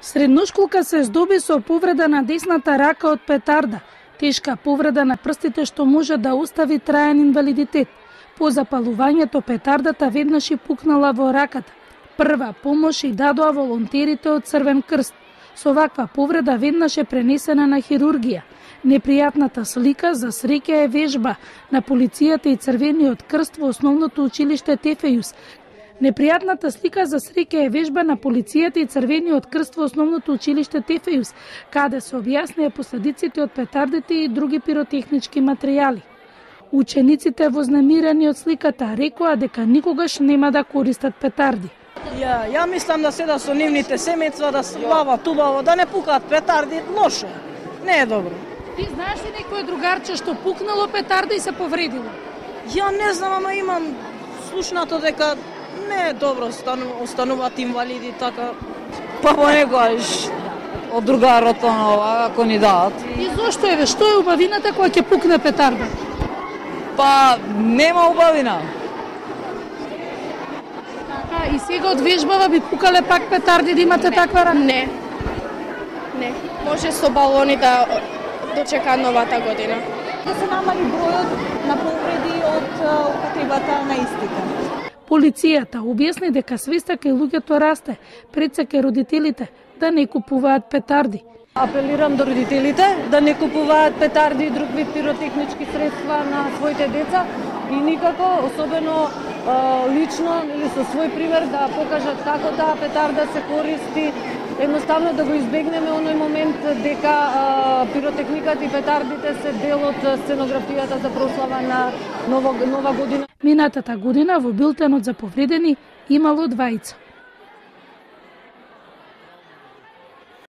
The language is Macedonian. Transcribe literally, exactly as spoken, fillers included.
Средношколка се здоби со повреда на десната рака од петарда, тешка повреда на прстите што може да остави траен инвалидитет. По запалувањето петардата веднаш и пукнала во раката. Прва помош и дадоа волонтерите од Црвен крст. Со ваква повреда веднаш е пренесена на хирургија. Непријатната слика за среќа е вежба на полицијата и Црвениот крст во основното училиште Тефејус. Непријатната слика за среќа е вежба на полицијата и Црвениот крст во основното училиште Тефејус, каде се објаснија последиците од петардите и други пиротехнички материјали. Учениците вознемирени од сликата рекоа дека никогаш нема да користат петарди. Ја, ја мислам да седа со нивните семејства, да се бават убаво, да не пукаат петарди, лошо. Не е добро. Ти знаеш ли некој другарче што пукнало петарда и се повредило? Ја не знам, ама имам слушнато дека не е добро остануваат инвалиди така. Па понекогаш од другарот онова ако ни дадат. И зошто е, што е убавината кога ќе пукне петарда? Па нема убавина. Така, и сега од вежбава би пукале пак петарди да имате не, таква рака? Не. Не. Може со балони да дочека новата година. Да се намали бројот на повреди од употребата на истите. Полицијата објасни дека свеста кај луѓето расте, пред се кај родителите да не купуваат петарди. Апелирам до родителите да не купуваат петарди и друг вид пиротехнички средства на своите деца и никако, особено лично или со свој пример да покажат како таа петарда се користи, едноставно да го избегнеме оној момент дека а, пиротехниката и петардите се дел од сценографијата за прослава на нова, нова година. Минатата година во билтенот за повредени имало двајца.